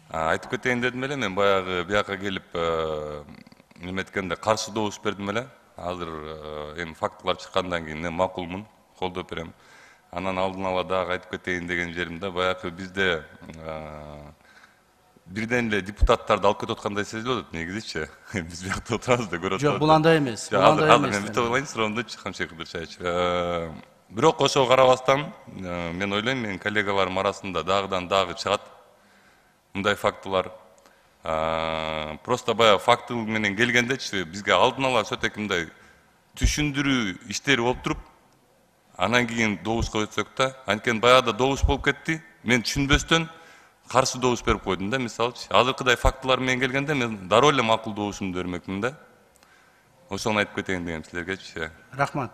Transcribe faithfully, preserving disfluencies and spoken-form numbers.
Айтып кетейин дедим эле, мен баягы бияка келип неметкенде каршы добуш бердим эле. Азыр эми фактылар чыккандан кийин мен макулмун, колдоп берем. Анан алдын ала дагы айтып кетейин деген жеримде, баягы бизде бирден эле депутаттарды алып кетип аткандай сезилип атат негизичи. Биз биякта отурабыз да көрүп атабыз. Жок, бул андай эмес. Бул андай эмес. Мен бүтүп алайын суроомдучу Камшек Кыдыршаевич. Бирок ошого карабастан мен ойлойм, менин коллегаларым арасында дагыдан дагы чыгат мындай фактылар. Просто баягы факты менен келгендечи бизге алдын ала сөтөк мындай түшүндүрүү иштери болуп туруп, анан кийин добушка өтсөк да, анткени баягыда добуш болуп кетти. Мен түшүнбөстөн каршы добуш берип койдум да, мисалчы. Азыркыдай фактылар менен келгенде мен дароо эле макул добушумду бермекмин да. Ошону айтып кетейин дегем силергечи. Рахмат.